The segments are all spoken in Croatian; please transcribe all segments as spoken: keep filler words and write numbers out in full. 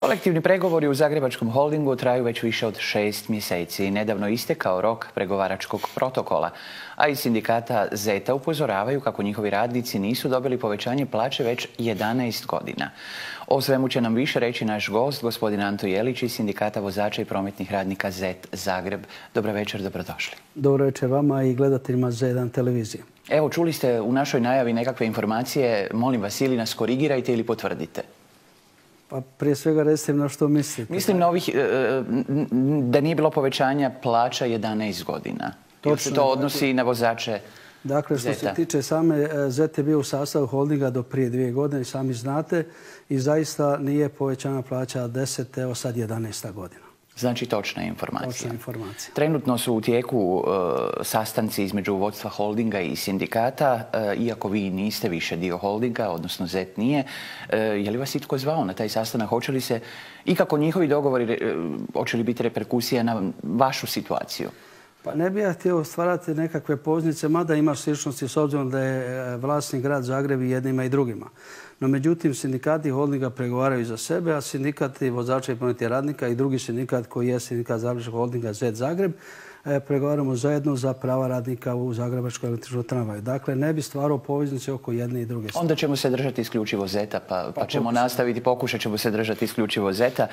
Kolektivni pregovori u Zagrebačkom holdingu traju već više od šest mjeseci. Nedavno istekao rok pregovaračkog protokola, a iz sindikata Zeta upozoravaju kako njihovi radnici nisu dobili povećanje plaće već jedanaest godina. O svemu će nam više reći naš gost, gospodin Anto Jelić iz sindikata vozača i prometnih radnika Zet Zagreb. Dobro večer, dobrodošli. Dobro večer vama i gledateljima Z jedan televizije. Evo, čuli ste u našoj najavi nekakve informacije. Molim vas, ili nas korigirajte ili potvrdite. Pa prije svega recite na što mislite. Mislim na ovih, da nije bilo povećanja plaća jedanaest godina. Ili se to odnosi i na vozače Zeta? Dakle, što se tiče same, Zet je bio u sastavu holdinga do prije dvije godine, sami znate, i zaista nije povećana plaća deset, evo sad jedanaesta godina. Znači točna informacija. Točna informacija. Trenutno su u tijeku e, sastanci između vodstva holdinga i sindikata, e, iako vi niste više dio holdinga, odnosno Zet nije. E, je li vas itko zvao na taj sastanak? Hoće li se i kako njihovi dogovori, e, hoće li biti reperkusija na vašu situaciju? Pa ne bih ja htio stvarati nekakve poznice, mada ima sličnosti s obzirom da je vlasnik grad Zagreb i jednima i drugima. No međutim, sindikati holdinga pregovaraju za sebe, a sindikati vozača i prometnih radnika i drugi sindikat koji je sindikat Zagrebačkog holdinga Zet Zagreb pregovaramo zajedno za prava radnika u Zagrebačkoj električnoj tramvaju. Dakle, ne bi stvarao poveznice oko jedne i druge strane. Onda ćemo se držati isključivo Zeta, pa, pa ćemo nastaviti, pokušat ćemo se držati isključivo Zeta.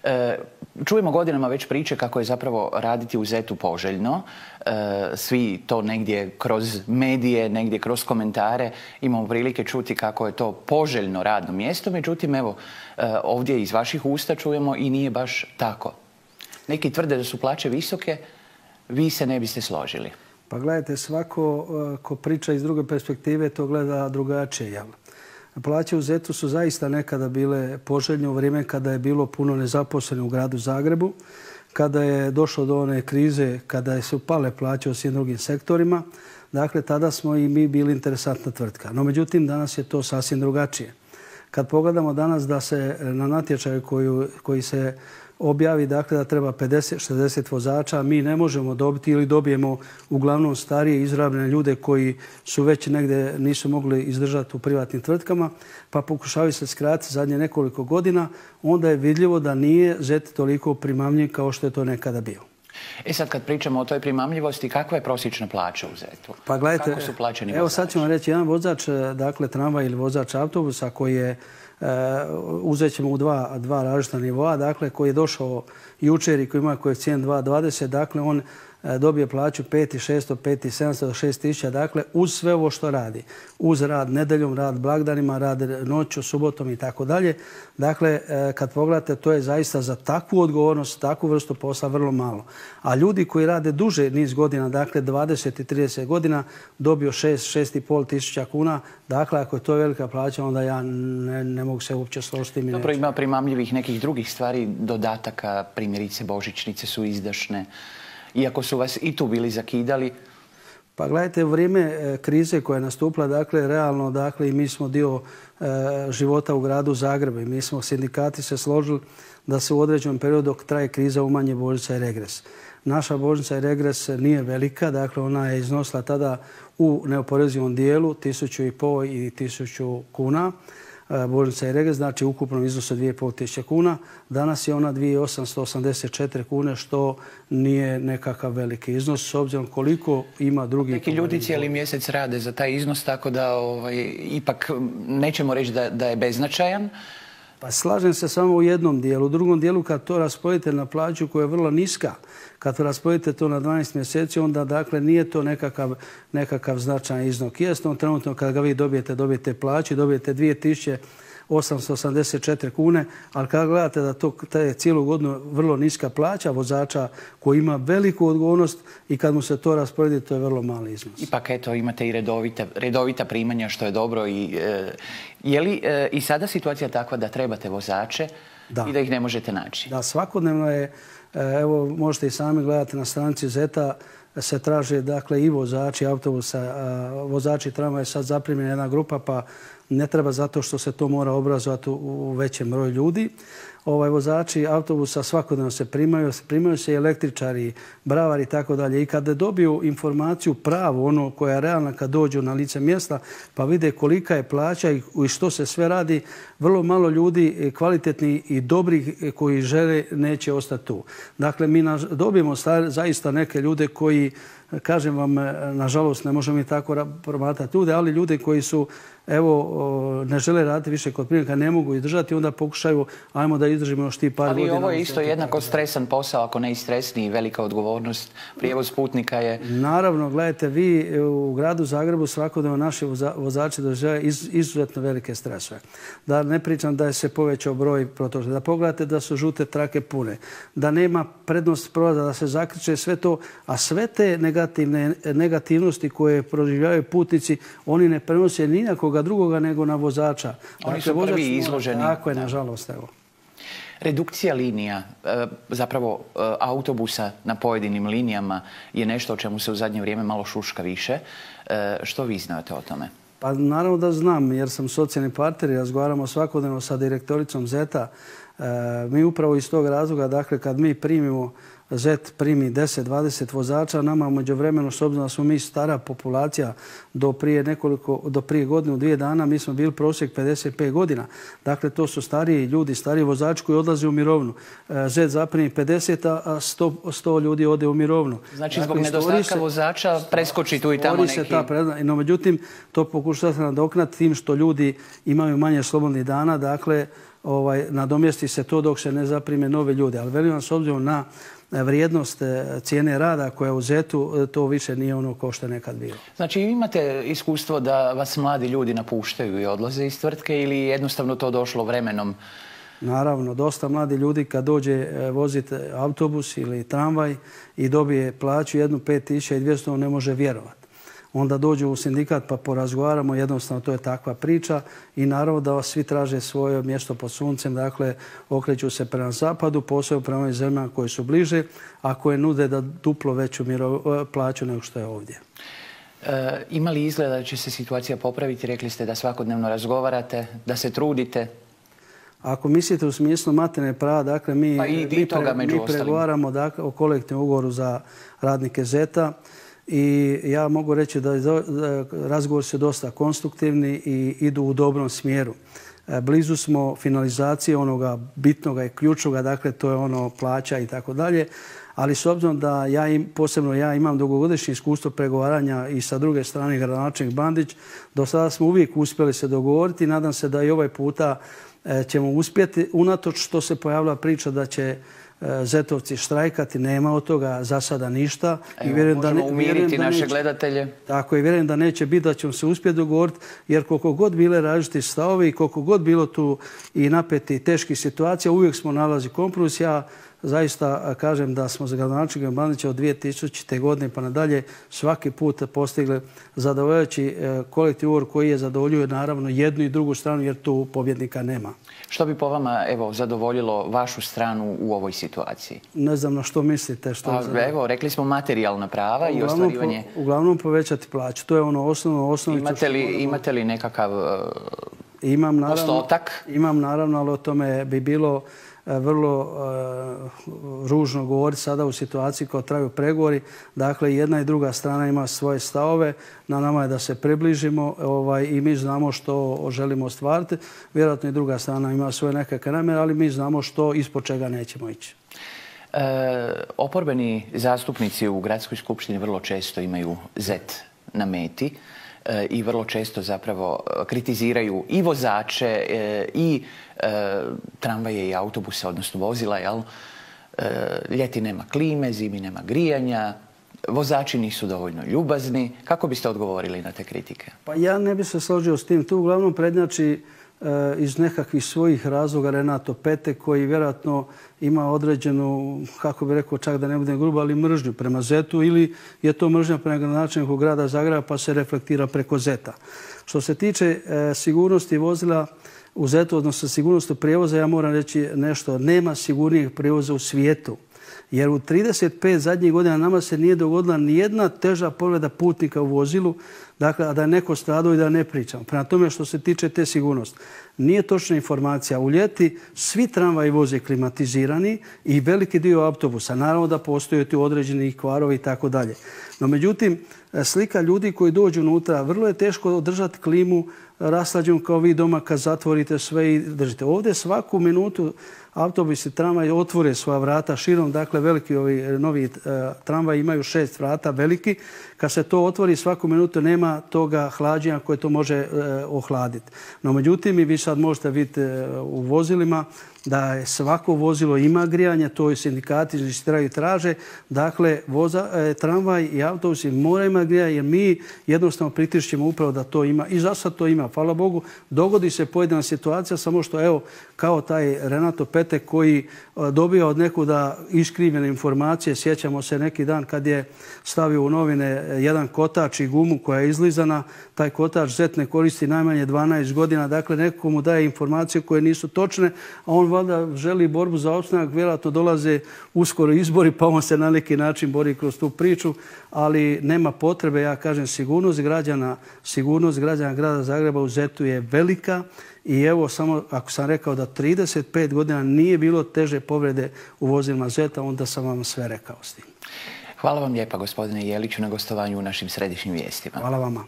E, čujemo godinama već priče kako je zapravo raditi u Zetu poželjno. E, svi to negdje kroz medije, negdje kroz komentare imamo prilike čuti kako je to poželjno radno mjesto. Međutim, evo, e, ovdje iz vaših usta čujemo i nije baš tako. Neki tvrde da su plaće visoke, vi se ne biste složili. Pa gledajte, svako ko priča iz druge perspektive to gleda drugačije, jel? Plaće u Zetu su zaista nekada bile poželjne u vrijeme kada je bilo puno nezaposlenih u gradu Zagrebu, kada je došlo do one krize, kada su pale plaće u svim drugim sektorima. Dakle, tada smo i mi bili interesantna tvrtka. No, međutim, danas je to sasvim drugačije. Kad pogledamo danas da se na natječaju koji, koji se objavi, dakle, da treba pedeset šezdeset vozača, mi ne možemo dobiti ili dobijemo uglavnom starije izrabljene ljude koji su već negdje nisu mogli izdržati u privatnim tvrtkama, pa pokušavaju se skratiti zadnje nekoliko godina, onda je vidljivo da nije Zet toliko primamljiv kao što je to nekada bio. E sad kad pričamo o toj primamljivosti, kakva je prosječna plaća u Zetu? Pa gledajte, kako su plaćeni vozači? Evo sad ću vam reći, jedan vozač, dakle tramvaj ili vozač autobusa koji je Uh, uzet ćemo u dva, dva različita nivoa, dakle, koji je došao jučer i koji ima koeficijent dva zarez dvadeset, dakle, on uh, dobije plaću pet tisuća šesto, pet tisuća sedamsto do šest tisuća, dakle, uz sve ovo što radi. Uz rad nedeljom, rad blagdanima, rad noću, subotom i tako dalje. Dakle, uh, kad pogledate, to je zaista za takvu odgovornost, takvu vrstu posla vrlo malo. A ljudi koji rade duže niz godina, dakle, dvadeset i trideset godina, dobio šest, šest i pol tisuća kuna. Dakle, ako je to velika plaća, onda ja ne, ne mogu se uopće složiti. Dobro, ima primamljivih nekih drugih stvari, dodataka, primjerice božićnice su izdašne, iako su vas i tu bili zakidali. Pa gledajte, u vrijeme krize koja je nastupila, dakle, realno, dakle, i mi smo dio e, života u gradu Zagrebu i mi smo sindikati se složili da se u određenom periodu dok traje kriza umanje božićnica i regres. Naša božićnica i regres nije velika, dakle, ona je iznosila tada u neoporezivom dijelu tisuću i pol i tisuću kuna. Božićnica i regres, znači ukupno iznosu dvije i pol tisuće kuna. Danas je ona dvije tisuće osamsto osamdeset četiri kune, što nije nekakav veliki iznos, s obzirom koliko ima drugih... Neki ljudi cijeli mjesec rade za taj iznos, tako da ovaj, ipak nećemo reći da, da je beznačajan. Pa slažem se samo u jednom dijelu. U drugom dijelu, kad to rasporedite na plaću koja je vrlo niska, kad rasporedite to na dvanaest mjeseci, onda dakle nije to nekakav, nekakav značajan iznos. Jasno, trenutno kad ga vi dobijete, dobijete plaću, dobijete dvije tisuće osamsto osamdeset četiri kune, ali kad gledate da to je cijelu godinu vrlo niska plaća vozača koji ima veliku odgovornost i kad mu se to rasporedi, to je vrlo mali iznos. Ipak eto, imate i redovita, redovita primanja, što je dobro. I, e, je li e, i sada situacija takva da trebate vozače da. I da ih ne možete naći? Da, svakodnevno je, evo možete i sami gledati na stranici Zeta, se traže dakle, i vozači autobusa, vozači tramvaja je sad zaprimljena jedna grupa, pa ne treba zato što se to mora obrazovati u većem broju ljudi. Ovaj, vozači autobusa svakodnevno se primaju, primaju se i električari, bravari i tako dalje. I kada dobiju informaciju pravu, ono koja je realna kad dođu na lice mjesta, pa vide kolika je plaća i što se sve radi, vrlo malo ljudi kvalitetni i dobrih koji žele neće ostati tu. Dakle, mi dobijemo zaista neke ljude koji, kažem vam, nažalost ne možemo mi tako promatrati ljude, ali ljude koji su, evo, ne žele raditi više kod prijemnika, ne mogu izdržati, onda pokušaju, ajmo da izdržimo još ti par godina. Ali ovo je isto jednako stresan posao, ako ne i stresniji, velika odgovornost. Prijevoz putnika je... Naravno, gledajte, vi u gradu Zagrebu svakodnevno naši vozači doživljavaju izuzetno velike stresove. Da ne pričam da je se povećao broj protoča, da pogledate da su žute trake pune, da nema prednost prolaza, da se zakriče sve to, a sve te negativne negativnosti koje proživljavaju putnici, oni ne prenose ni na koga drugoga nego na vozača. Oni su prvi izloženi. Tako je, nažalost, evo. Redukcija linija, zapravo autobusa na pojedinim linijama je nešto o čemu se u zadnje vrijeme malo šuška više. Što vi znate o tome? Pa naravno da znam, jer sam socijalni partner i razgovaramo svakodnevno sa direktoricom Zeta. Mi upravo iz tog razloga, dakle, kad mi primimo Zet primi deset dvadeset vozača, nama umeđu vremenu, s obzirom da smo mi stara populacija do prije nekoliko, do prije godinu, dvije dana, mi smo bili prosjek pedeset pet godina. Dakle, to su stariji ljudi, stariji vozači koji odlaze u mirovnu. Zet zaprimi pedeset, a sto ljudi ode u mirovnu. Znači, zbog nedostatka vozača preskoči tu i tamo neki... No, međutim, to pokušava se nadoknati tim što ljudi imaju manje slobodnih dana, dakle, ovaj, nadomjesti se to dok se ne zaprime nove ljude. Ali velim vam, s obzirom na vrijednost cijene rada koja je u Zetu, to više nije ono kao što je nekad bilo. Znači imate iskustvo da vas mladi ljudi napuštaju i odlaze iz tvrtke ili jednostavno to došlo vremenom? Naravno, dosta mladi ljudi kad dođe voziti autobus ili tramvaj i dobije plaću jednu pet tisuća dvjesto, on ne može vjerovati. Onda dođu u sindikat pa porazgovaramo, jednostavno to je takva priča i naravno da vas svi traže svoje mjesto pod suncem, dakle okreću se prema zapadu, posebno prema ovim zemljama koje su bliže, a koje nude da duplo veću plaću nego što je ovdje. E, ima li izgleda da će se situacija popraviti? Rekli ste da svakodnevno razgovarate, da se trudite. Ako mislite u smislu materijalne prava, dakle mi, pa i, mi, i toga pre, među mi pregovaramo dakle, o kolektivnom ugovoru za radnike Zeta. I ja mogu reći da razgovori su dosta konstruktivni i idu u dobrom smjeru. Blizu smo finalizacije onoga bitnoga i ključnoga, dakle to je ono plaća i tako dalje. Ali s obzirom da ja im, posebno ja imam dugogodišnje iskustvo pregovaranja i sa druge strane gradonačelnik Bandić, do sada smo uvijek uspjeli se dogovoriti i nadam se da i ovaj puta ćemo uspjeti. Unatoč što se pojavila priča da će Zetovci štrajkati, nema od toga za sada ništa. Evo, I vjerujem možemo da ne, umiriti da naše neće, gledatelje. Tako i vjerujem da neće biti da ćemo se uspjeti dogovoriti, jer koliko god bile različiti stavovi i koliko god bilo tu i napeti i teških situacija, uvijek smo nalazi kompromis. Ja zaista kažem da smo za gradonačelnika Bandića od dvije tisućite. godine pa nadalje svaki put postigli zadovoljavajući kolektivni ugovor koji je zadovoljuje naravno jednu i drugu stranu jer tu pobjednika nema. Što bi po vama evo, zadovoljilo vašu stranu u ovoj situaciji? Ne znam na što mislite. Što pa, evo, rekli smo materijalna prava i uglavnom ostvarivanje... Po, uglavnom povećati plaću. To je ono osnovno osnovicu. Imate li, imate li nekakav uh, imam, naravno, postotak? Imam naravno, ali o tome bi bilo vrlo uh, ružno govoriti sada u situaciji kao traju pregovori. Dakle, jedna i druga strana ima svoje stavove. Na nama je da se približimo ovaj, i mi znamo što želimo ostvariti. Vjerojatno i druga strana ima svoje nekakve namjere, ali mi znamo što ispod čega nećemo ići. E, oporbeni zastupnici u Gradskoj skupštini vrlo često imaju Zet na meti e, i vrlo često zapravo kritiziraju i vozače e, i e, tramvaje i autobuse, odnosno vozila. Jel? E, ljeti nema klime, zimi nema grijanja, vozači nisu dovoljno ljubazni. Kako biste odgovorili na te kritike? Pa ja ne bih se složio s tim. Tu uglavnom prednjači iz nekakvih svojih razloga Renato Pete koji vjerojatno ima određenu, kako bi rekao, čak da ne budem grubo, ali mržnju prema Zetu ili je to mržnja prema gradonačelniku grada Zagreba pa se reflektira preko Zeta. Što se tiče e, sigurnosti vozila u Zetu, odnosno sigurnosti prijevoza, ja moram reći nešto. Nema sigurnijeg prijevoza u svijetu. Jer u trideset pet zadnjih godina nama se nije dogodila nijedna teža povreda putnika u vozilu, dakle, a da je neko stradao i da ne pričam. Prema tome što se tiče te sigurnosti. Nije točna informacija. U ljeti svi tramvaji voze klimatizirani i veliki dio autobusa. Naravno da postoje tu određeni kvarovi i tako dalje. No međutim, slika ljudi koji dođu unutra, vrlo je teško održati klimu raslađenu kao vi doma kad zatvorite sve i držite. Ovdje svaku minutu autobusi, tramvaji otvore svoja vrata širom, dakle veliki ovi novi tramvaji imaju šest vrata veliki. Kad se to otvori svaku minutu nema toga hlađenja koje to može ohladiti. No međutim, i vi sad možete vidjeti u vozilima da je svako vozilo ima grijanje, to i sindikati inzistiraju i traže. Dakle, voza, tramvaj i autobusi moraju imati grijanje jer mi jednostavno pritišćemo upravo da to ima. I za sad to ima. Hvala Bogu, dogodi se pojedina situacija, samo što evo, kao taj Renato Petek koji dobija od nekuda iskrivljene informacije. Sjećamo se neki dan kad je stavio u novine jedan kotač i gumu koja je izlizana. Taj kotač Zet ne koristi najmanje dvanaest godina. Dakle, neko mu daje informacije koje nisu točne, a on valjda želi borbu za opstanak. Vjerojatno dolaze uskoro izbori, pa on se na neki način bori kroz tu priču, ali nema potrebe. Ja kažem, sigurnost građana, sigurnost građana grada Zagreba u Zetu je velika. I evo, samo ako sam rekao da trideset pet godina nije bilo teže povrede u vozilima Zeta, onda sam vam sve rekao s tim. Hvala vam lijepa, gospodine Jeliću, na gostovanju u našim središnjim vijestima. Hvala vama.